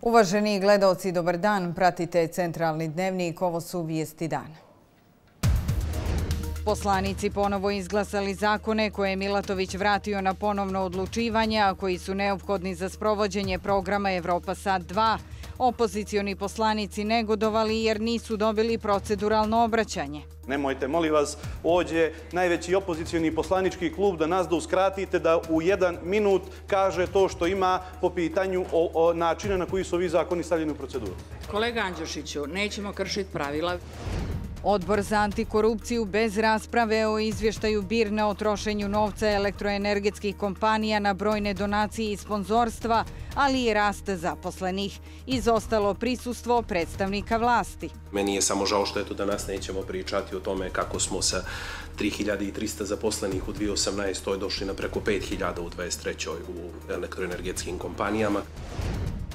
Uvaženi gledaoci, dobar dan. Pratite Centralni dnevnik. Ovo su vijesti dana. Poslanici ponovo izglasali zakone koje je Milatović vratio na ponovno odlučivanje, a koji su neophodni za sprovođenje programa Evropa Sad 2. Opozicioni poslanici negodovali jer nisu dobili proceduralno obraćanje. Nemojte, molim vas, ovdje najveći opozicioni poslanički klub da nas uskratite da u 1 minut kaže to što ima po pitanju načina na koji su ovi zakoni stavljeni u proceduru. Kolega Andjušiću, nećemo kršiti pravila. Odbor za antikorupciju bez rasprave o izvještaju BIRN o trošenju novca elektroenergetskih kompanija na brojne donacije i sponzorstva, ali i rast zaposlenih. Izostalo prisustvo predstavnika vlasti. Meni je samo žao što danas nećemo pričati o tome kako smo sa 3300 zaposlenih u 2018. došli na preko 5000 u 2023. u elektroenergetskim kompanijama.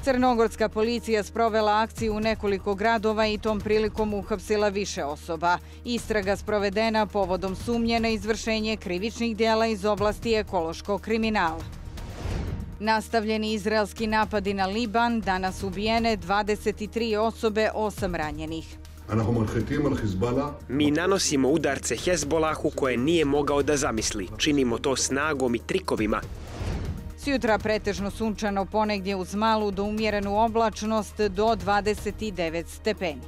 Crnogorska policija sprovela akciju u nekoliko gradova i tom prilikom uhapsila više osoba. Istraga sprovedena povodom sumnje na izvršenje krivičnih dijela iz oblasti ekološkog kriminala. Nastavljeni izraelski napadi na Liban, danas ubijene 23 osobe, 8 ranjenih. Mi nanosimo udarce Hezbolahu koje nije mogao da zamisli. Činimo to snagom i trikovima. Sjutra pretežno sunčano, ponegdje uz malu do umjerenu oblačnost do 29 stepeni.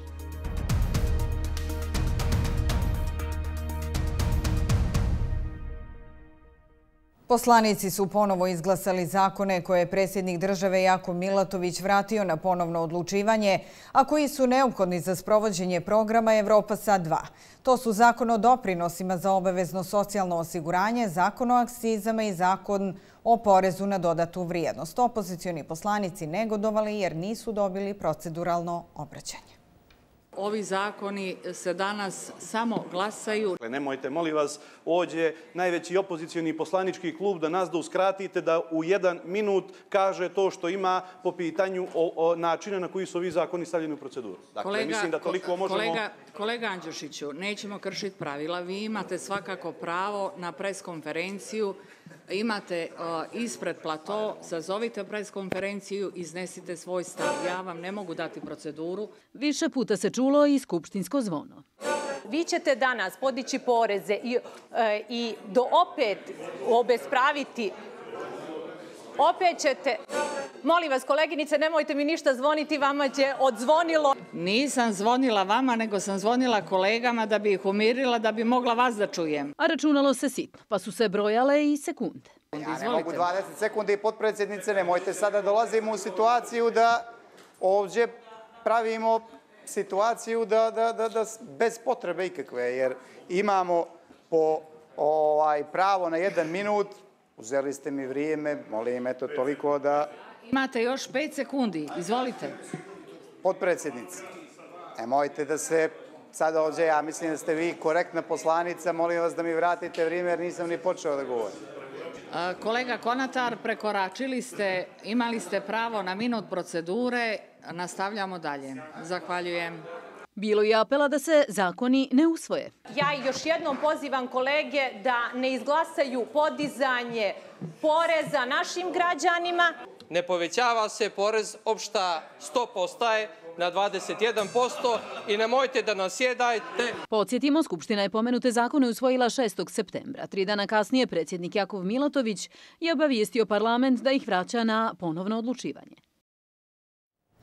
Poslanici su ponovo izglasali zakone koje je predsjednik države Jakov Milatović vratio na ponovno odlučivanje, a koji su neophodni za sprovođenje programa Evropa Sad 2. To su zakon o doprinosima za obavezno socijalno osiguranje, zakon o akcizama i zakon o porezu na dodatu vrijednost. Opozicioni poslanici negodovali jer nisu dobili proceduralno obraćanje. Ovi zakoni se danas samo glasaju. Nemojte, molim vas, ovdje najveći opozicioni poslanički klub da nas uskratite da u 1 minut kaže to što ima po pitanju načina na koji su ovi zakoni stavljeni u proceduru. Dakle, mislim da toliko možemo... Kolega Andjušiću, nećemo kršiti pravila. Vi imate svakako pravo na preskonferenciju. Imate ispred plato, sazovite preskonferenciju, iznesite svoj stav. Ja vam ne mogu dati proceduru. Više puta se čulo i skupštinsko zvono. Vi ćete danas podići poreze i opet obespraviti. Opet ćete... Molim vas, koleginice, nemojte mi ništa zvoniti, vama će odzvonilo. Nisam zvonila vama, nego sam zvonila kolegama da bi ih umirila, da bi mogla vas da čujem. A računalo se sitno, pa su se brojale i sekunde. Ja ne mogu 20 sekundi, potpredsjednice, nemojte sada dolazimo u situaciju da ovdje pravimo situaciju da bez potrebe ikakve, jer imamo po pravo na 1 minut, uzeli ste mi vrijeme, molim, eto toliko da... Imate još 5 sekundi, izvolite. Potpredsjednice, nemojte da se sada ovdje, ja mislim da ste vi korektna poslanica, molim vas da mi vratite vrijeme jer nisam ni počeo da govorim. Kolega Konatar, prekoračili ste, imali ste pravo na minut procedure, nastavljamo dalje. Zahvaljujem. Bilo je apela da se zakoni ne usvoje. Ja još jednom pozivam kolege da ne izglasaju podizanje poreza našim građanima. Ne povećava se porez, opšta stopa ostaje na 21% i nemojte da nasjedajte. Podsjetimo, Skupština je pomenute zakone usvojila 6. septembra. 3 dana kasnije predsjednik Jakov Milatović je obavijestio parlament da ih vraća na ponovno odlučivanje.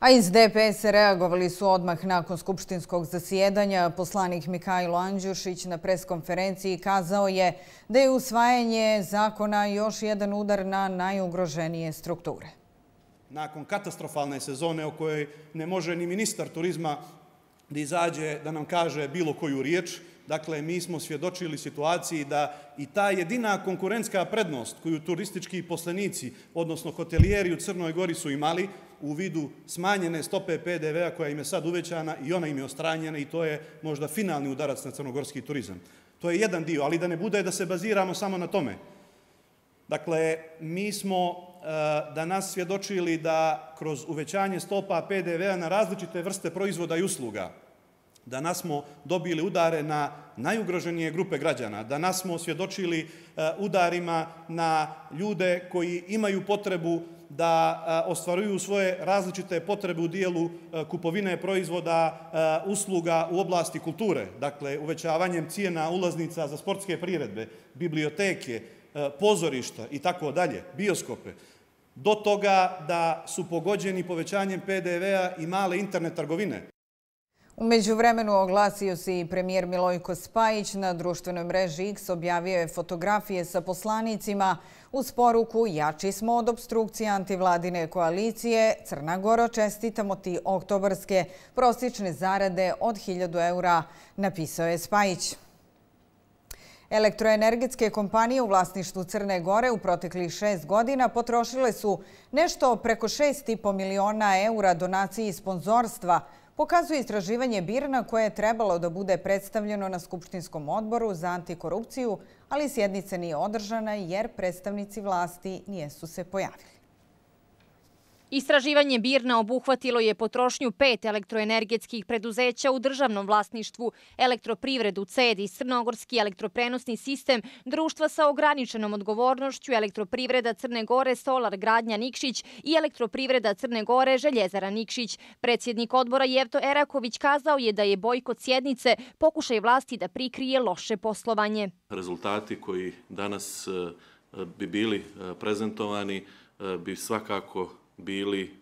A iz DPS reagovali su odmah nakon skupštinskog zasjedanja. Poslanik Mihajlo Andjušić na preskonferenciji kazao je da je usvajanje zakona još jedan udar na najugroženije strukture. Nakon katastrofalne sezone o kojoj ne može ni ministar turizma da izađe da nam kaže bilo koju riječ, dakle, mi smo svjedočili situaciji da i ta jedina konkurentska prednost koju turistički poslenici, odnosno hotelijeri u Crnoj Gori su imali u vidu smanjene stope PDV-a koja im je sad uvećana i ona im je ostranjena i to je možda finalni udarac na crnogorski turizam. To je jedan dio, ali da ne bude da se baziramo samo na tome. Dakle, mi smo danas svjedočili da kroz uvećanje stopa PDV-a na različite vrste proizvoda i usluga, danas smo dobili udare na najugroženije grupe građana. Danas smo svjedočili udarima na ljude koji imaju potrebu da ostvaruju svoje različite potrebe u dijelu kupovine proizvoda, usluga u oblasti kulture. Dakle, uvećavanjem cijena ulaznica za sportske priredbe, biblioteke, pozorišta i tako dalje, bioskope. Do toga da su pogođeni povećanjem PDV-a i male internet trgovine. U međuvremenu oglasio se i premijer Milojko Spajić. Na društvenoj mreži X objavio je fotografije sa poslanicima uz poruku "Jači smo od opstrukcije antivladine koalicije. Crna Goro, čestitamo ti oktobarske prosječne zarade od 1000 eura", napisao je Spajić. Elektroenergetske kompanije u vlasništvu Crne Gore u proteklih 6 godina potrošile su nešto preko 6,5 miliona eura donacije i sponzorstva, pokazuje istraživanje BIRN-a koje je trebalo da bude predstavljeno na Skupštinskom odboru za antikorupciju, ali sjednica nije održana jer predstavnici vlasti nisu se pojavili. Istraživanje BIRN-a obuhvatilo je potrošnju 5 elektroenergetskih preduzeća u državnom vlasništvu, Elektroprivredu CEDIS, Crnogorski elektroprenosni sistem, društva sa ograničenom odgovornošću, Elektroprivreda Crne Gore, Solar Gradnja Nikšić i Elektroprivreda Crne Gore, Željezara Nikšić. Predsjednik odbora Jevto Eraković kazao je da je bojkot sjednice pokušaj vlasti da prikrije loše poslovanje. Rezultati koji danas bi bili prezentovani bi svakako bili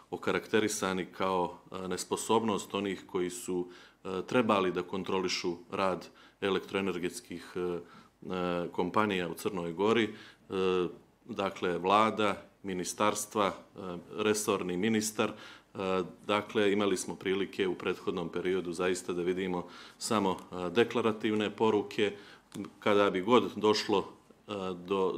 okarakterisani kao nesposobnost onih koji su trebali da kontrolišu rad elektroenergetskih kompanija u Crnoj Gori, dakle vlada, ministarstva, resorni ministar. Dakle, imali smo prilike u prethodnom periodu zaista da vidimo samo deklarativne poruke. Kada bi god došlo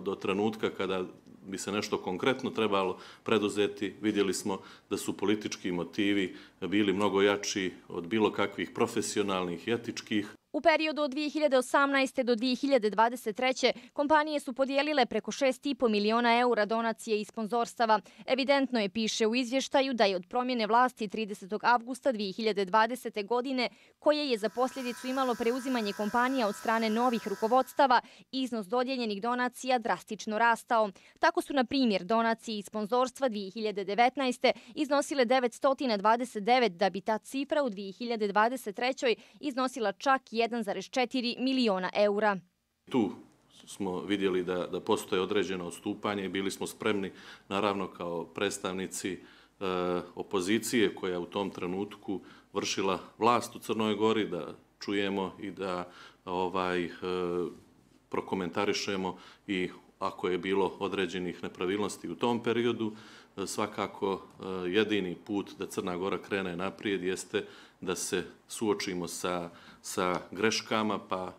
do trenutka kada bi se nešto konkretno trebalo preduzeti, vidjeli smo da su politički motivi bili mnogo jači od bilo kakvih profesionalnih i etičkih. U periodu od 2018. do 2023. kompanije su podijelile preko 6,5 miliona eura donacije i sponzorstava. Evidentno je, piše u izvještaju, da je od promjene vlasti 30. avgusta 2020. godine, koje je za posljedicu imalo preuzimanje kompanija od strane novih rukovodstava, iznos dodijeljenih donacija drastično rastao. Tako su, na primjer, donacije i sponzorstva 2019. iznosile 929, da bi ta cifra u 2023. iznosila čak 1,4 miliona eura. Tu smo vidjeli da postoje određeno odstupanje i bili smo spremni, naravno kao predstavnici opozicije koja u tom trenutku vršila vlast u Crnoj Gori, da čujemo i da prokomentarišemo i ako je bilo određenih nepravilnosti u tom periodu. Svakako jedini put da Crna Gora krene naprijed jeste da se suočimo sa greškama, pa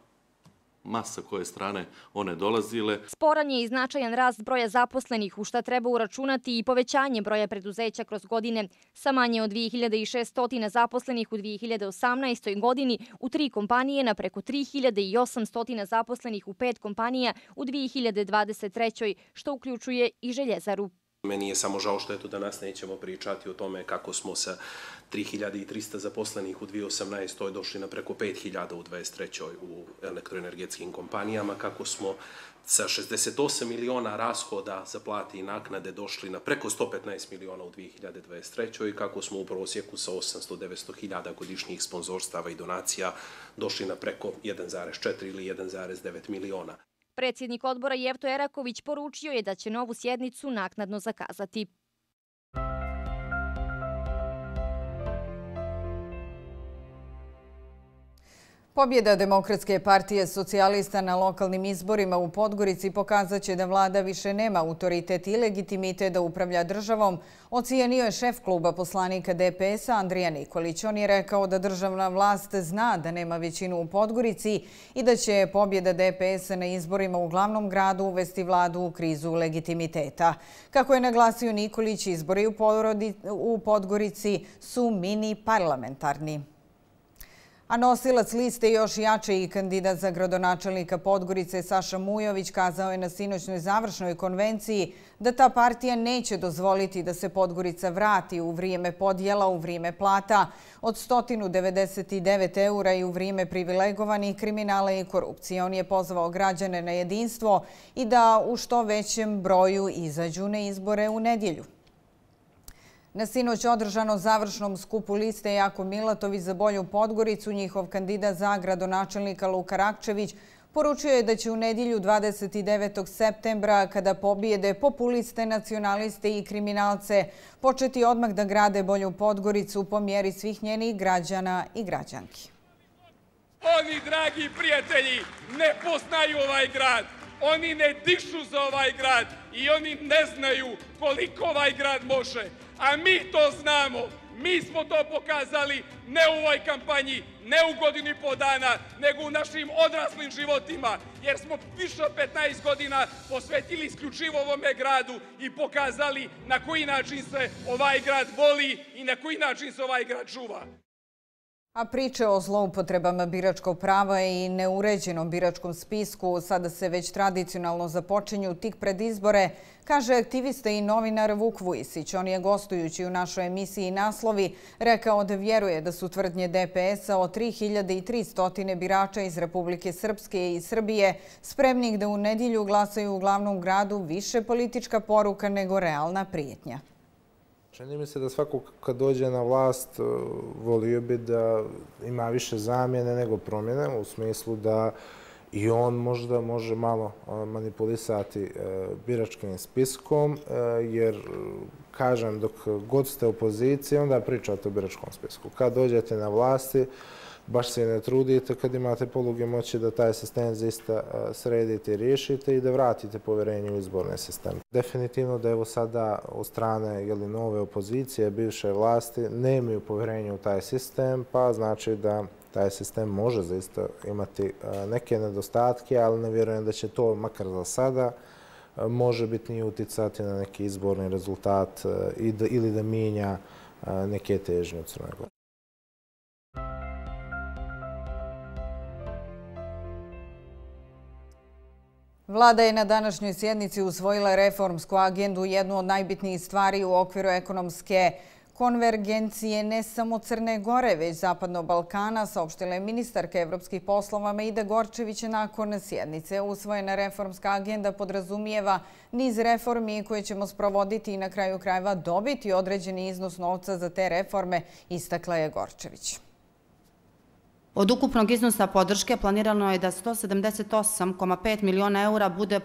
masa koje strane one dolazile. Sporan je i značajan rast broja zaposlenih, u šta treba uračunati i povećanje broja preduzeća kroz godine. Sa manje od 2600 zaposlenih u 2018. godini u 3 kompanije na preko 3800 zaposlenih u 5 kompanija u 2023. što uključuje i Željezaru. Meni je samo žao što eto danas nećemo pričati o tome kako smo sa 3300 zaposlenih u 2018. došli na preko 5000 u 2023. u elektroenergetskim kompanijama, kako smo sa 68 miliona rashoda za plate i naknade došli na preko 115 miliona u 2023. i kako smo u prosjeku sa 800-900 hiljada godišnjih sponzorstava i donacija došli na preko 1,4 ili 1,9 miliona. Predsjednik odbora Jevto Eraković poručio je da će novu sjednicu naknadno zakazati. Pobjeda Demokratske partije socijalista na lokalnim izborima u Podgorici pokazat će da vlada više nema autoritet i legitimitet da upravlja državom, ocijenio je šef kluba poslanika DPS-a Andrija Nikolić. On je rekao da državna vlast zna da nema većinu u Podgorici i da će pobjeda DPS-a na izborima u glavnom gradu uvesti vladu u krizu legitimiteta. Kako je naglasio Nikolić, izbori u Podgorici su mini parlamentarni. A nosilac liste još jače i kandidat za gradonačelnika Podgorice Saša Mujović kazao je na sinoćnoj završnoj konvenciji da ta partija neće dozvoliti da se Podgorica vrati u vrijeme podjela, u vrijeme plata od 199 eura i u vrijeme privilegovanih kriminala i korupcije. On je pozvao građane na jedinstvo i da u što većem broju izađu na izbore u nedjelju. Na sinoć održano završnom skupu liste Jakov Milatović za bolju Podgoricu, njihov kandidat za gradonačelnika Luka Rakčević poručio je da će u nedjelju 29. septembra, kada pobijede populiste, nacionaliste i kriminalce, početi odmah da grade bolju Podgoricu po mjeri svih njenih građana i građanki. Oni, dragi prijatelji, ne poznaju ovaj grad. Oni ne dišu za ovaj grad i oni ne znaju koliko ovaj grad može. A mi to znamo. Mi smo to pokazali ne u ovoj kampanji, ne u godinu i pol dana, nego u našim odraslim životima. Jer smo više od 15 godina posvetili isključivo ovome gradu i pokazali na koji način se ovaj grad voli i na koji način se ovaj grad čuva. A priče o zloupotrebama biračkog prava i neuređenom biračkom spisku sada se već tradicionalno započinju tik pred izbore, kaže aktivista i novinar Vuk Vujisić. On je, gostujući u našoj emisiji Naslovi, rekao da vjeruje da su tvrdnje DPS-a o 3300 birača iz Republike Srpske i Srbije spremnih da u nedjelju glasaju u glavnom gradu više politička poruka nego realna prijetnja. Čini mi se da svako kad dođe na vlast volio bi da ima više zamjene nego promjene, u smislu da i on možda može malo manipulisati biračkim spiskom, jer, kažem, dok god ste u opoziciji, onda pričate o biračkom spisku. Kad dođete na vlasti, baš se ne trudite kad imate poluge moći da taj sistem zaista sredite i riješite i da vratite povjerenje u izborni sistem. Definitivno da evo sada od strane nove opozicije, bivše vlasti, nemaju povjerenje u taj sistem, pa znači da taj sistem može zaista imati neke nedostatke, ali ne vjerujem da će to, makar za sada, može biti uticati na neki izborni rezultat ili da mijenja neke težnje u Crnoj Gori. Vlada je na današnjoj sjednici usvojila reformsku agendu, jednu od najbitnijih stvari u okviru ekonomske konvergencije ne samo Crne Gore, već Zapadnog Balkana, saopštila je ministarka evropskih poslova Meida Gorčević nakon sjednice. Usvojena reformska agenda podrazumijeva niz reformi koje ćemo sprovoditi i na kraju krajeva dobiti određeni iznos novca za te reforme, istakla je Gorčević. Od ukupnog iznosa podrške planirano je da 178,5 miliona eura bude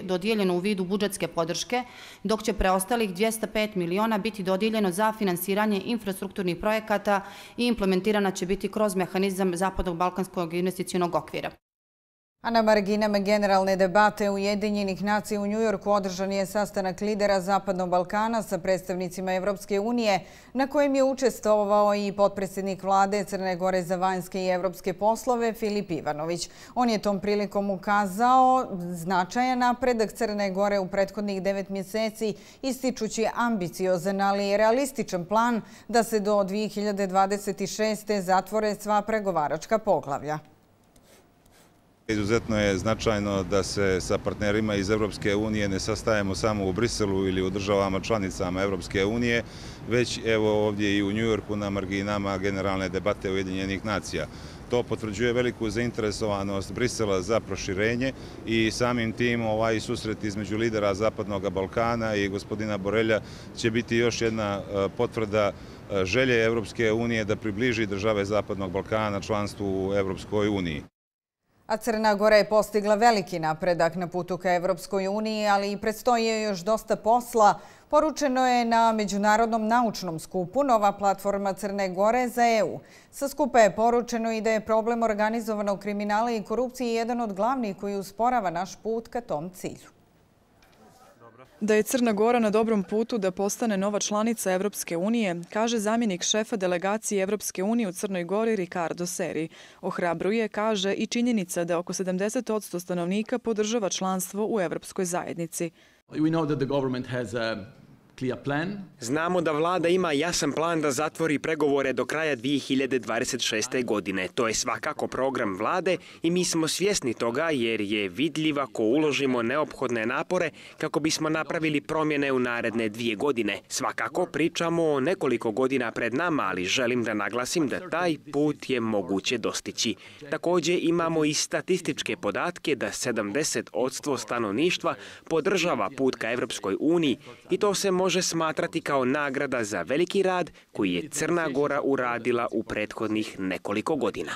dodijeljeno u vidu budžetske podrške, dok će preostalih 205 miliona biti dodijeljeno za finansiranje infrastrukturnih projekata i implementirana će biti kroz mehanizam Zapadnog balkanskog investicionog okvira. A na marginama generalne debate Ujedinjenih nacija u Njujorku održan je sastanak lidera Zapadnog Balkana sa predstavnicima Evropske unije, na kojem je učestvovao i potpredsjednik vlade Crne Gore za vanjske i evropske poslove Filip Ivanović. On je tom prilikom ukazao značajan napredak Crne Gore u prethodnih 9 mjeseci, ističući ambiciozan, ali i realističan plan da se do 2026. zatvore sva pregovaračka poglavlja. Izuzetno je značajno da se sa partnerima iz Evropske unije ne sastajemo samo u Briselu ili u državama članicama Evropske unije, već evo ovdje i u Njujorku na marginama generalne debate Ujedinjenih nacija. To potvrđuje veliku zainteresovanost Brisela za proširenje i samim tim ovaj susret između lidera Zapadnog Balkana i gospodina Borelja će biti još jedna potvrda želje Evropske unije da približi države Zapadnog Balkana članstvu u Evropskoj uniji. A Crna Gora je postigla veliki napredak na putu ka Evropskoj uniji, ali i predstoji joj još dosta posla. Poručeno je na Međunarodnom naučnom skupu Nova platforma Crne Gore za EU. Sa skupa je poručeno i da je problem organizovanog kriminala i korupcije jedan od glavnih koji usporava naš put ka tom cilju. Da je Crna Gora na dobrom putu da postane nova članica Evropske unije, kaže zamjenik šefa delegacije Evropske unije u Crnoj Gori Ricardo Seri. Ohrabruje, kaže, i činjenica da oko 70% stanovnika podržava članstvo u Evropskoj zajednici. We know that the government has Znamo da vlada ima jasan plan da zatvori pregovore do kraja 2026. godine. To je svakako program vlade i mi smo svjesni toga jer je vidljivo ako uložimo neophodne napore kako bismo napravili promjene u naredne 2 godine. Svakako pričamo o nekoliko godina pred nama, ali želim da naglasim da taj put je moguće dostići. Također imamo i statističke podatke da 70% stanovništva podržava put ka Evropskoj uniji i to se može smatrati kao nagrada za veliki rad koji je Crna Gora uradila u prethodnih nekoliko godina.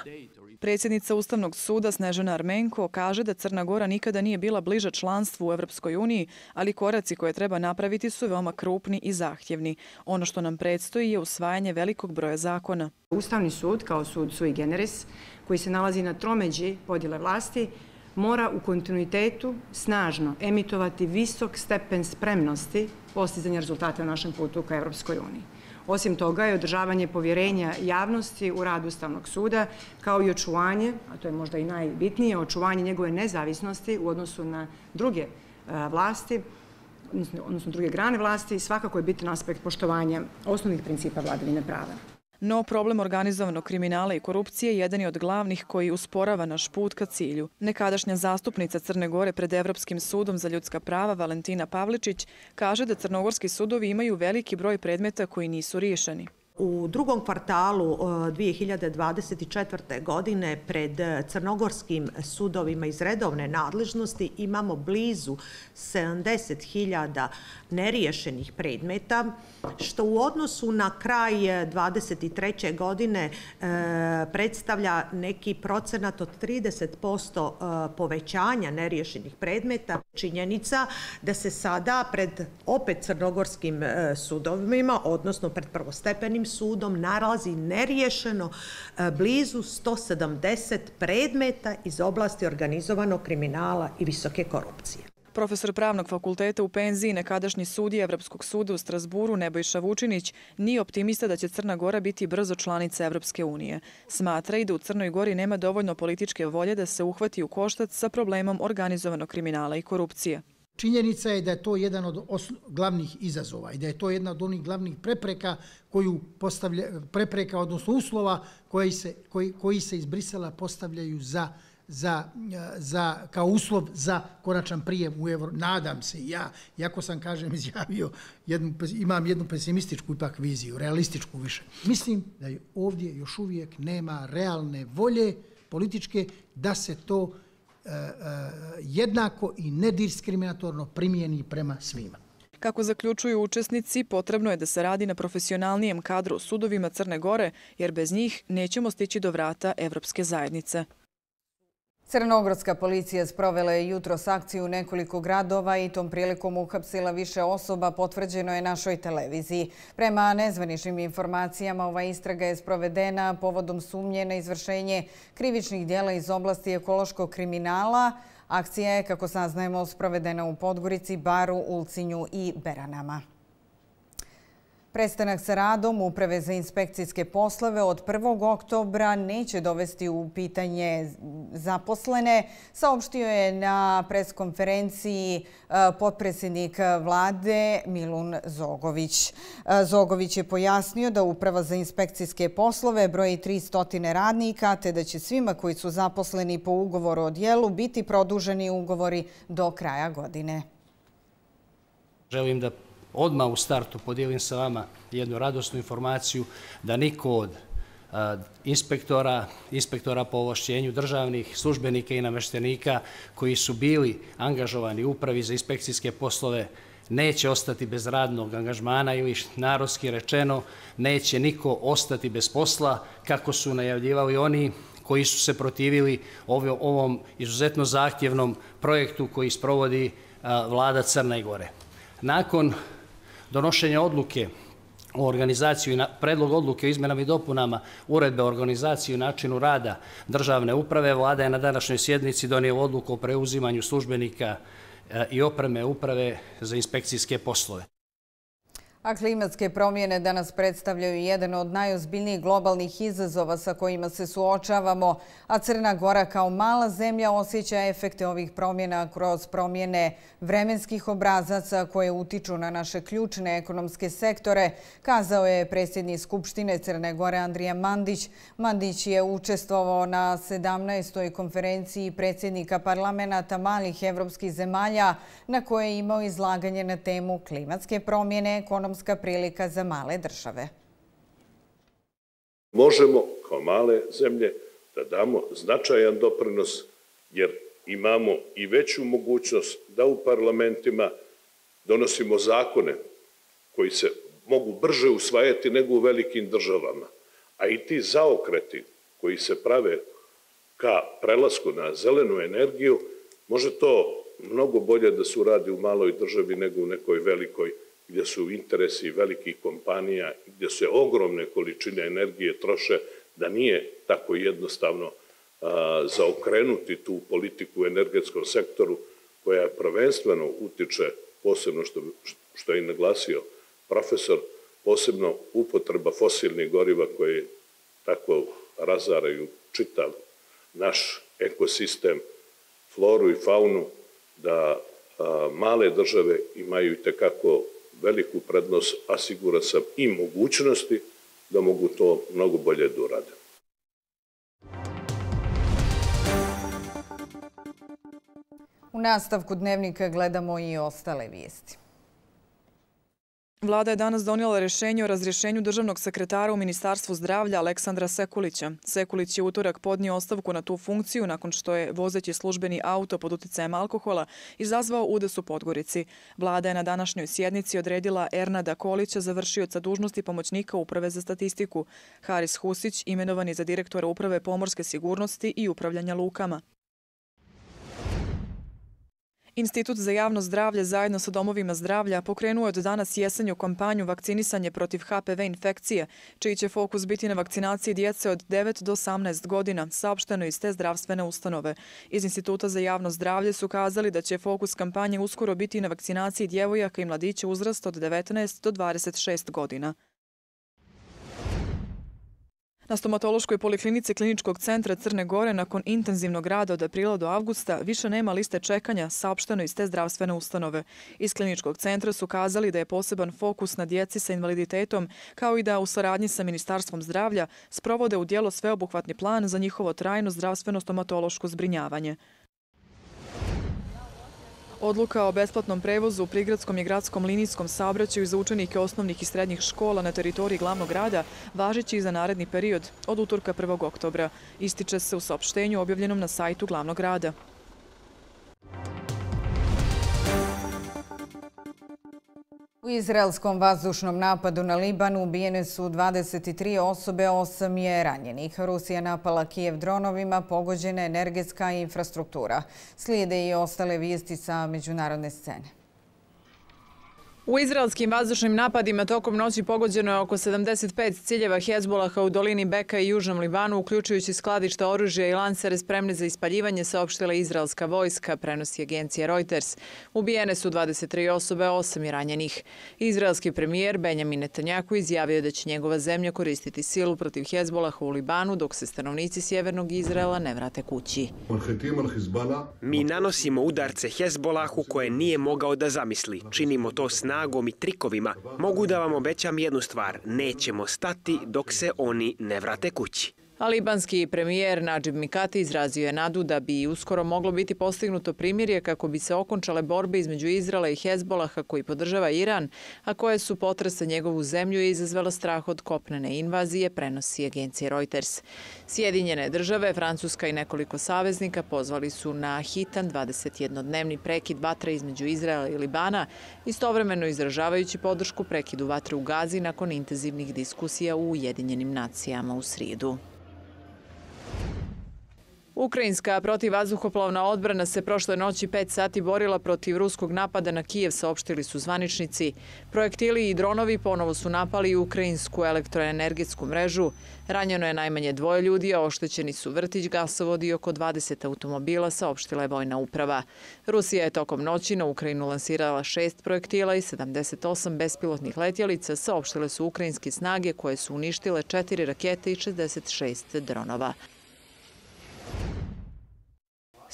Predsjednica Ustavnog suda Snežana Armenko kaže da Crna Gora nikada nije bila bliža članstvu u Evropskoj uniji, ali koraci koje treba napraviti su veoma krupni i zahtjevni. Ono što nam predstoji je usvajanje velikog broja zakona. Ustavni sud, kao sud sui generis, koji se nalazi na tromeđi podjele vlasti, mora u kontinuitetu snažno emitovati visok stepen spremnosti postizanja rezultata na našem putu ka Evropskoj uniji. Osim toga je održavanje povjerenja javnosti u rad Ustavnog suda, kao i očuvanje, a to je možda i najbitnije, očuvanje njegove nezavisnosti u odnosu na druge vlasti, odnosno druge grane vlasti, svakako je bitan aspekt poštovanja osnovnih principa vladavine prava. No, problem organizovanog kriminala i korupcije jedan je od glavnih koji usporava naš put ka cilju. Nekadašnja zastupnica Crne Gore pred Evropskim sudom za ljudska prava Valentina Pavličić kaže da crnogorski sudovi imaju veliki broj predmeta koji nisu riješeni. U drugom kvartalu 2024. godine pred crnogorskim sudovima iz redovne nadležnosti imamo blizu 70.000 neriješenih predmeta, što u odnosu na kraj 2023. godine predstavlja neki procenat od 30% povećanja neriješenih predmeta. Činjenica da se sada pred opet crnogorskim sudovima, odnosno pred prvostepenim sudom, nalazi neriješeno blizu 170 predmeta iz oblasti organizovanog kriminala i visoke korupcije. Profesor pravnog fakulteta u penziji, nekadašnji sudija Evropskog suda u Strasburu Nebojša Vučinić nije optimista da će Crna Gora biti brzo članica Evropske unije. Smatra i da u Crnoj Gori nema dovoljno političke volje da se uhvati u koštac sa problemom organizovanog kriminala i korupcije. Činjenica je da je to jedan od glavnih izazova i da je to jedna od onih glavnih prepreka, odnosno uslova koji se iz Brisela postavljaju kao uslov za konačan prijem u euro. Nadam se ja, iako sam, kažem, izjavio, imam jednu pesimističku ipak viziju, realističku više. Mislim da ovdje još uvijek nema realne volje političke da se to jednako i nediskriminatorno primijeni prema svima. Kako zaključuju učesnici, potrebno je da se radi na profesionalnijem kadru u sudovima Crne Gore, jer bez njih nećemo stići do vrata Evropske zajednice. Crnogorska policija sprovela je jutros akciju u nekoliko gradova i tom prilikom uhapsila više osoba, potvrđeno je našoj televiziji. Prema nezvaničnim informacijama, ova istraga je sprovedena povodom sumnje na izvršenje krivičnih djela iz oblasti ekološkog kriminala. Akcija je, kako saznajemo, sprovedena u Podgorici, Baru, Ulcinju i Beranama. Prestanak sa radom Uprave za inspekcijske poslove od 1. oktobra neće dovesti u pitanje zaposlene, saopštio je na preskonferenciji potpredsjednik vlade Milun Zogović. Zogović je pojasnio da Uprava za inspekcijske poslove broji 300 radnika, te da će svima koji su zaposleni po ugovoru o djelu biti produženi ugovori do kraja godine. Želim da odmah u startu podijelim sa vama jednu radosnu informaciju da niko od inspektora po ovlašćenju državnih službenika i namještenika koji su bili angažovani u Upravi za inspekcijske poslove neće ostati bez radnog angažmana ili, narodski rečeno, neće niko ostati bez posla, kako su najavljivali oni koji su se protivili ovom izuzetno zahtjevnom projektu koji sprovodi vlada Crne Gore. Nakon donošenja odluke o organizaciji, predlog odluke o izmenama i dopunama uredbe o organizaciji i načinu rada državne uprave, vlada je na današnjoj sjednici donijela odluku o preuzimanju službenika i opreme Uprave za inspekcijske poslove. A klimatske promjene danas predstavljaju jedan od najozbiljnijih globalnih izazova sa kojima se suočavamo, a Crna Gora kao mala zemlja osjeća efekte ovih promjena kroz promjene vremenskih obrazaca koje utiču na naše ključne ekonomske sektore, kazao je predsjednik Skupštine Crne Gore Andrija Mandić. Mandić je učestvovao na 17. konferenciji predsjednika parlamenta malih evropskih zemalja na koje je imao izlaganje na temu klimatske promjene, ekonomska prilika za male države. Možemo kao male zemlje da damo značajan doprinos jer imamo i veću mogućnost da u parlamentima donosimo zakone koji se mogu brže usvajati nego u velikim državama. A i ti zaokreti koji se prave ka prelasku na zelenu energiju, može to mnogo bolje da se uradi u maloj državi nego u nekoj velikoj, gdje su interesi velikih kompanija, gdje se ogromne količine energije troše, da nije tako jednostavno zaokrenuti tu politiku u energetskom sektoru koja prvenstveno utiče, posebno što je i naglasio profesor, posebno upotreba fosilnih goriva koje tako razaraju čitav naš ekosistem, floru i faunu, da male države imaju itekako veliku prednost, a siguran sam i mogućnosti da mogu to mnogo bolje da urade. U nastavku dnevnika gledamo i ostale vijesti. Vlada je danas donijela rješenje o razrješenju državnog sekretara u Ministarstvu zdravlja Aleksandra Sekulića. Sekulić je utorak podnio ostavku na tu funkciju nakon što je vozeći službeni auto pod uticajem alkohola izazvao udes u Podgorici. Vlada je na današnjoj sjednici odredila Ernada Kolića za vršioca dužnosti pomoćnika Uprave za statistiku. Haris Husić imenovan je za direktora Uprave pomorske sigurnosti i upravljanja lukama. Institut za javno zdravlje zajedno sa domovima zdravlja pokrenuo je od danas jesenju kampanju vakcinisanje protiv HPV infekcije, čiji će fokus biti na vakcinaciji djece od 9 do 18 godina, saopšteno iz te zdravstvene ustanove. Iz Instituta za javno zdravlje su kazali da će fokus kampanje uskoro biti na vakcinaciji djevojaka i mladića uzrasta od 19 do 26 godina. Na stomatološkoj poliklinici Kliničkog centra Crne Gore nakon intenzivnog rada od aprila do avgusta više nema liste čekanja, saopšteno iz te zdravstvene ustanove. Iz Kliničkog centra su kazali da je poseban fokus na djeci sa invaliditetom, kao i da u saradnji sa Ministarstvom zdravlja sprovode u djelo sveobuhvatni plan za njihovo trajno zdravstveno stomatološko zbrinjavanje. Odluka o besplatnom prevozu u prigradskom i gradskom linijskom saobraćaju za učenike osnovnih i srednjih škola na teritoriji glavnog grada važeći i za naredni period od utorka 1. oktobra. Ističe se u saopštenju objavljenom na sajtu glavnog grada. U izraelskom vazdušnom napadu na Liban ubijene su 23 osobe, 8 je ranjenih. Rusija napala Kijev dronovima, pogođena energetska infrastruktura. Slijede i ostale vijesti sa međunarodne scene. U izraelskim vazdušnim napadima tokom noći pogođeno je oko 75 ciljeva Hezbolaha u dolini Beka i južnom Libanu, uključujući skladišta oružja i lansere spremne za ispaljivanje, saopštila izraelska vojska, prenosi agencija Reuters. Ubijene su 23 osobe, 8 je ranjenih. Izraelski premijer Benjamin Netanjahu izjavio da će njegova zemlja koristiti silu protiv Hezbolaha u Libanu dok se stanovnici sjevernog Izraela ne vrate kući. Mi nanosimo udarce Hezbolahu koje nije mogao da zamisli. Činimo to snagom i trikovima. Mogu da vam obećam jednu stvar. Nećemo stati dok se oni ne vrate kući. A libanski premijer Nadžib Mikati izrazio je nadu da bi uskoro moglo biti postignuto primirje kako bi se okončale borbe između Izraela i Hezbolaha koji podržava Iran, a koje su potrese njegovu zemlju i izazvela strah od kopnene invazije, prenosi agencija Reuters. Sjedinjene države, Francuska i nekoliko saveznika pozvali su na hitan 21-dnevni prekid vatre između Izraela i Libana, istovremeno izražavajući podršku prekidu vatre u Gazi nakon intenzivnih diskusija u Ujedinjenim nacijama u srijedu. Ukrajinska protivvazduhoplovna odbrana se prošle noći 5 sati borila protiv ruskog napada na Kijev, saopštili su zvaničnici. Projektili i dronovi ponovo su napali ukrajinsku elektroenergetsku mrežu. Ranjeno je najmanje 2 ljudi, a oštećeni su vrtić, gasovod i oko 20 automobila, saopštila je vojna uprava. Rusija je tokom noći na Ukrajinu lansirala 6 projektila i 78 bespilotnih letjelica, saopštile su ukrajinske snage koje su uništile 4 rakete i 66 dronova.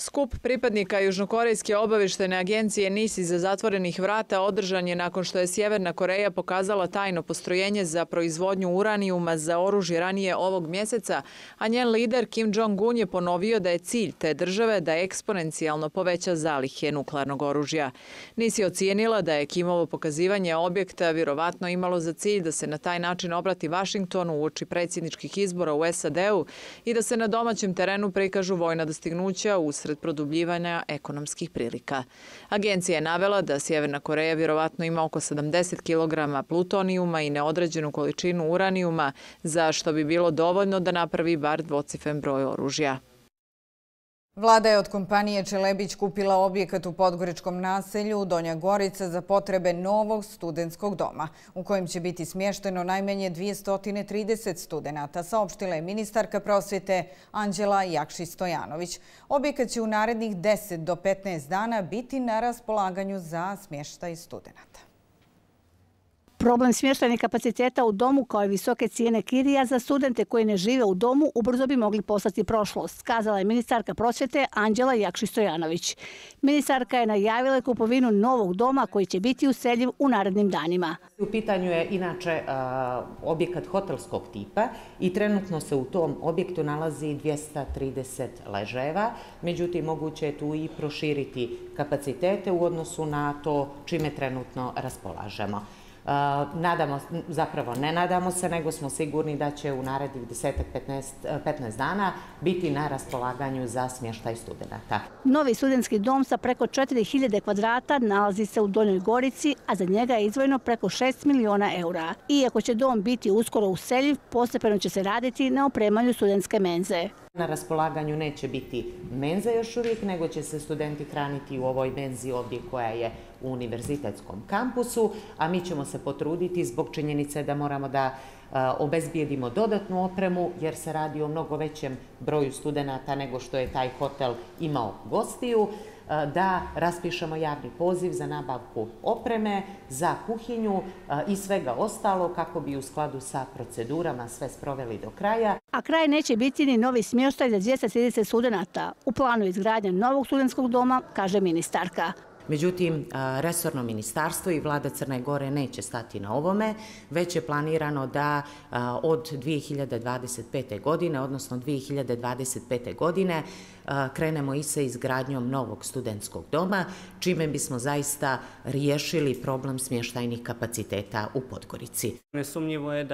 Skup pripadnika Južnokorejske obavještajne agencije NIS iza zatvorenih vrata održan je nakon što je Sjeverna Koreja pokazala tajno postrojenje za proizvodnju uranijuma za oružje ranije ovog mjeseca, a njen lider Kim Jong-un je ponovio da je cilj te države da eksponencijalno poveća zalihe nuklearnog oružja. NIS je ocijenila da je Kimovo pokazivanje objekta vjerovatno imalo za cilj da se na taj način obrati Vašingtonu uoči predsjedničkih izbora u SAD-u i da se na domaćem terenu prikažu vojna dostignuća usred produbljivanja ekonomskih prilika. Agencija je navela da Sjeverna Koreja vjerovatno ima oko 70 kg plutonijuma i neodređenu količinu uranijuma, za što bi bilo dovoljno da napravi bar dvocifren broj oružja. Vlada je od kompanije Čelebić kupila objekat u podgoričkom naselju Donja Gorica za potrebe novog studentskog doma, u kojem će biti smješteno najmanje 230 studenata, saopštila je ministarka prosvjete Anđela Jakšić-Stojanović. Objekat će u narednih 10 do 15 dana biti na raspolaganju za smještaj studenata. Problem smještajnih kapaciteta u domu kao i visoke cijene kirija za studente koji ne žive u domu ubrzo bi mogli postati prošlost, kazala je ministarka prosvjete Anđela Jakšić-Stojanović. Ministarka je najavila kupovinu novog doma koji će biti useljiv u narednim danima. U pitanju je inače objekat hotelskog tipa i trenutno se u tom objektu nalazi 230 ležajeva, međutim moguće je tu i proširiti kapacitete u odnosu na to čime trenutno raspolažemo. Ne nadamo se, nego smo sigurni da će u narednih 10-15 dana biti na raspolaganju za smještaj studenata. Novi studentski dom sa preko 4000 kvadrata nalazi se u Donjoj Gorici, a za njega je izdvojeno preko 6 miliona eura. Iako će dom biti uskoro useljiv, postepeno će se raditi na opremanju studentske menze. Na raspolaganju neće biti menza još uvijek, nego će se studenti hraniti u ovoj menzi ovdje koja je u univerzitetskom kampusu, a mi ćemo se potruditi zbog činjenice da moramo da obezbijedimo dodatnu opremu jer se radi o mnogo većem broju studenata nego što je taj hotel imao gostiju, da raspišemo javni poziv za nabavku opreme, za kuhinju i svega ostalo kako bi u skladu sa procedurama sve sproveli do kraja. A kraj neće biti ni novi smještaj za 230 studenata. U planu je izgradnja novog studentskog doma, kaže ministarka. Međutim, resorno ministarstvo i vlada Crne Gore neće stati na ovome, već je planirano da od 2025. godine, odnosno 2025. godine, krenemo i sa izgradnjom novog studentskog doma, čime bismo zaista riješili problem smještajnih kapaciteta u Podgorici. Nesumnjivo je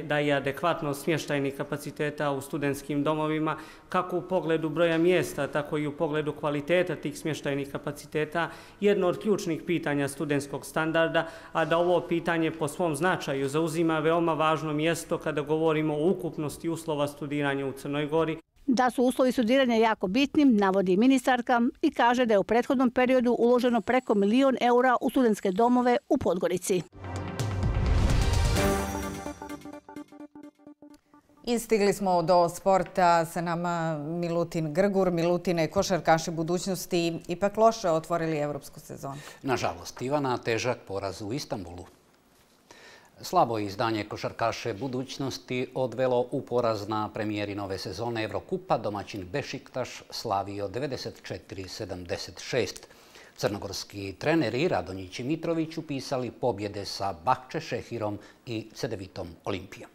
da je adekvatno smještajnih kapaciteta u studentskim domovima, kako u pogledu broja mjesta, tako i u pogledu kvaliteta tih smještajnih kapaciteta, jedno od ključnih pitanja studentskog standarda, a da ovo pitanje po svom značaju zauzima veoma važno mjesto kada govorimo o ukupnosti uslova studiranja u Crnoj Gori. Da su uslovi studiranja jako bitnim, navodi ministarka i kaže da je u prethodnom periodu uloženo preko 1 milion eura u studentske domove u Podgorici. Istigli smo do sporta, sa nama Milutin Grgur. Milutine, košarkaši budućnosti ipak loše otvorili evropsku sezonu. Nažalost, Ivana, težak poraz u Istanbulu. Slabo izdanje košarkaše budućnosti odvelo u poraz na premijeri nove sezone Evrokupa. Domaćin Bešiktaš slavio 94-76. Crnogorski treneri Radonjić i Mitrović upisali pobjede sa Bahče Šehirom i Cedevitom Olimpijom.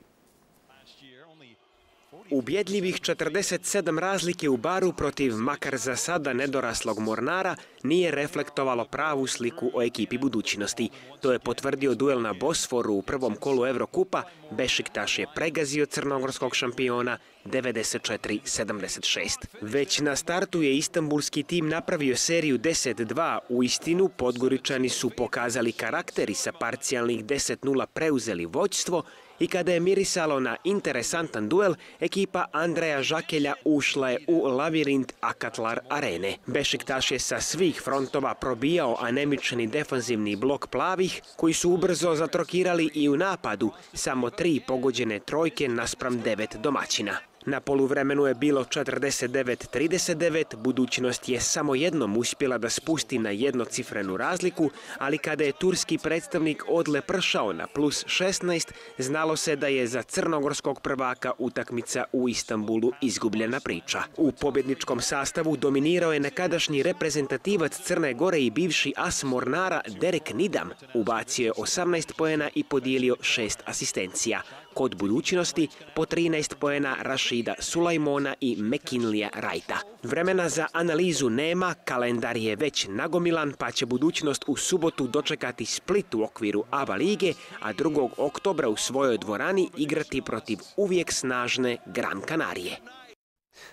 Ubjedljivih 47 razlike u Baru protiv makar za sada nedoraslog Mornara nije reflektovalo pravu sliku o ekipi budućnosti. To je potvrdio duel na Bosforu u prvom kolu Evrokupa. Bešiktaš je pregazio crnogorskog šampiona 94-76. Već na startu je istanbulski tim napravio seriju 10-2. U istinu, Podgoričani su pokazali karakter i sa parcijalnih 10-0 preuzeli vođstvo, I kada je mirisalo na interesantan duel, ekipa Andreja Žakelja ušla je u lavirint Akatlar arene. Bešiktaš je sa svih frontova probijao anemični defanzivni blok plavih, koji su ubrzo zatrokirali i u napadu, samo 3 pogođene trojke naspram 9 domaćina. Na poluvremenu je bilo 49-39, budućnost je samo jednom uspjela da spusti na jednocifrenu razliku, ali kada je turski predstavnik odle pršao na plus 16, znalo se da je za crnogorskog prvaka utakmica u Istanbulu izgubljena priča. U pobjedničkom sastavu dominirao je nekadašnji reprezentativac Crne Gore i bivši as Mornara Derek Nidam. Ubacio je 18 poena i podijelio 6 asistencija. Kod budućnosti po 13 poena Rašida Sulajmona i McKinleya Wrighta. Vremena za analizu nema, kalendar je već nagomilan, pa će budućnost u subotu dočekati Split u okviru ABA lige, a 2. oktobra u svojoj dvorani igrati protiv uvijek snažne Gran Kanarije.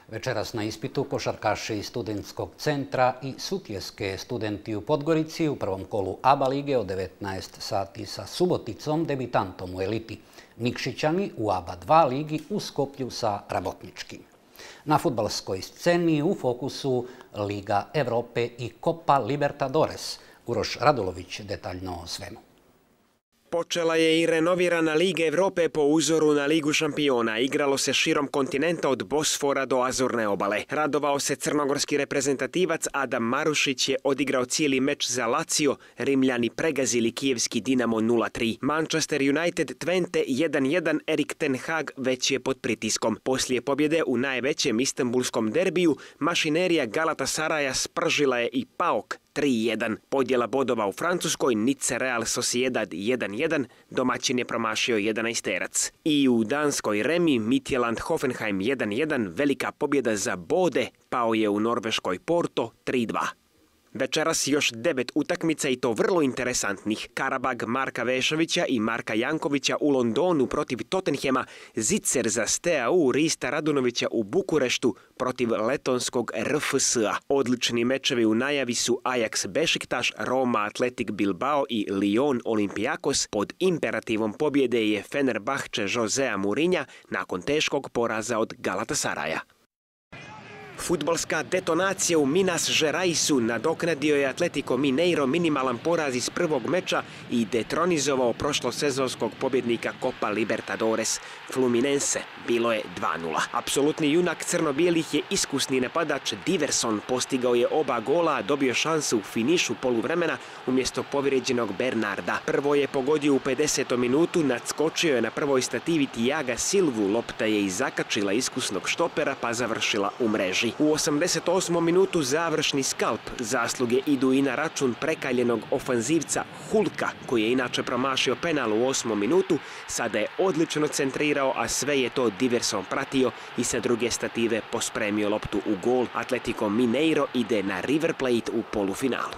Večeras na ispitu košarkaši iz studentskog centra i Sutjeske studenti u Podgorici u prvom kolu ABA lige od 19 sati sa Suboticom, debitantom u eliti. Nikšićani u ABA 2 ligi u Skoplju sa Rabotničkim. Na fudbalskoj sceni u fokusu Liga Evrope i Copa Libertadores. Uroš Radulović detaljno o svemu. Počela je i renovirana Liga Evrope po uzoru na Ligu šampiona. Igralo se širom kontinenta od Bosfora do Azurne obale. Radovao se crnogorski reprezentativac Adam Marušić je odigrao cijeli meč za Lazio, Rimljani pregazili kijevski Dinamo 0-3. Manchester United Twente 1-1, Erik ten Hag već je pod pritiskom. Poslije pobjede u najvećem istanbulskom derbiju, mašinerija Galatasaraja spržila je i PAOK 3-1. Podjela bodova u Francuskoj, Nice Real Sociedad 1-1, domaćin je promašio 11-terac. I u Danskoj Remi, Midtjylland Hoffenheim 1-1, velika pobjeda za Bode, pao je u Norveškoj Porto 3-2. Večeras još 9 utakmica i to vrlo interesantnih. Karabag Marka Vešovića i Marka Jankovića u Londonu protiv Tottenhema, Zicer za Steaua Rista Radunovića u Bukureštu protiv letonskog RFS-a. Odlični mečevi u najavi su Ajax Bešiktaš, Roma Atletik Bilbao i Lyon Olympiakos. Pod imperativom pobjede je Fenerbahče Josea Mourinha nakon teškog poraza od Galatasaraja. Fudbalska detonacija u Minas Geraisu nadoknadio je Atletico Mineiro minimalan poraz iz prvog meča i detronizovao prošlosezonskog pobjednika Copa Libertadores Fluminense. Bilo je 2-0. Apsolutni junak crno-bijelih je iskusni napadač Diverson. Postigao je oba gola, a dobio šansu u finišu poluvremena umjesto povrijeđenog Bernarda. Prvo je pogodio u 50. minutu, nadskočio je na prvoj stativi Tiaga Silvu, lopta je i zakačila iskusnog štopera pa završila u mreži. U 88. minutu završni skalp. Zasluge idu i na račun prekaljenog ofanzivca Hulka, koji je inače promašio penal u 8. minutu. Sada je odlično centrirao, a sve je to Diverson pratio i sa druge stative pospremio loptu u gol. Atletico Mineiro ide na River Plate u polufinalu.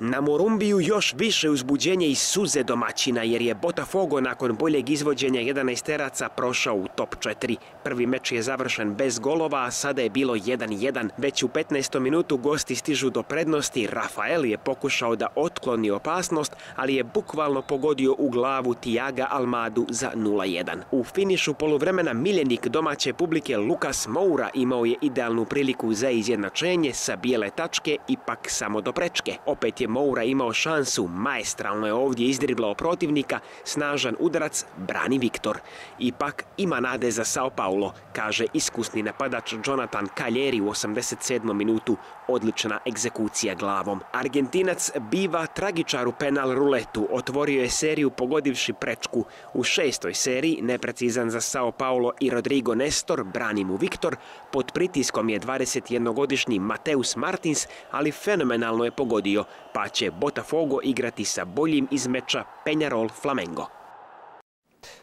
Na Morumbiju još više uzbuđenje i suze domaćina jer je Botafogo nakon boljeg izvođenja 11-teraca prošao u top 4. Prvi meč je završen bez golova, a sada je bilo 1-1. Već u 15. minutu gosti stižu do prednosti. Rafael je pokušao da otkloni opasnost, ali je bukvalno pogodio u glavu Tiaga Almadu za 0-1. U finišu poluvremena miljenik domaće publike Lucas Moura imao je idealnu priliku za izjednačenje sa bijele tačke, ipak samo do prečke. Opet je Moura imao šansu, maestralno je ovdje izdriblao protivnika, snažan udarac brani Viktor. Ipak ima nade za Sao Paulo, kaže iskusni napadač Jonathan Caglieri u 87. minutu, odlična egzekucija glavom. Argentinac biva tragičar u penal ruletu, otvorio je seriju pogodivši prečku. U 6. seriji, neprecizan za Sao Paulo i Rodrigo Nestor, brani mu Viktor, pod pritiskom je 21-godišnji Mateus Martins, ali fenomenalno je pogodio, pa će Botafogo igrati sa boljim iz meča Peñarol Flamengo.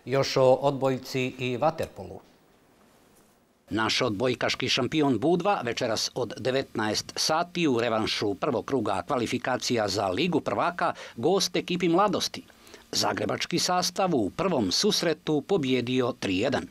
Još o odbojci i vaterpolu. Naš odbojkaški šampion Budva večeras od 19 sati u revanšu prvog kruga kvalifikacija za Ligu prvaka gost ekipi Mladosti. Zagrebački sastav u prvom susretu pobjedio 3-1.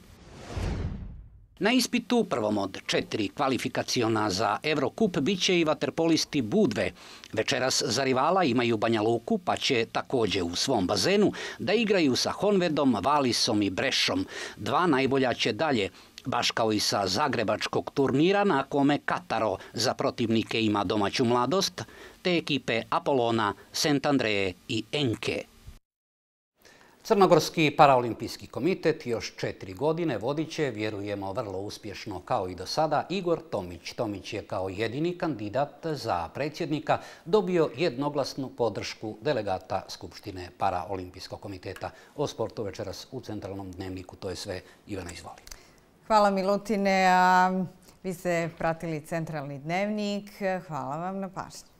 Na ispitu, prvom od 4 kvalifikaciona za Eurocup, bit će i vaterpolisti Budve. Večeras za rivala imaju Banja Luku, pa će također u svom bazenu da igraju sa Honvedom, Valisom i Brešom. 2 najbolja će dalje, baš kao i sa zagrebačkog turnira na kome Kataro za protivnike ima domaću mladost, te ekipe Apolona, St. Andreje i Enke. Crnogorski paraolimpijski komitet još 4 godine vodit će, vjerujemo vrlo uspješno kao i do sada, Igor Tomić. Tomić je kao jedini kandidat za predsjednika dobio jednoglasnu podršku delegata Skupštine paraolimpijskog komiteta. O sportu večeras u Centralnom dnevniku. To je sve. Ivana, izvoli. Hvala Milutine, a vi ste pratili Centralni dnevnik. Hvala vam na pažnji.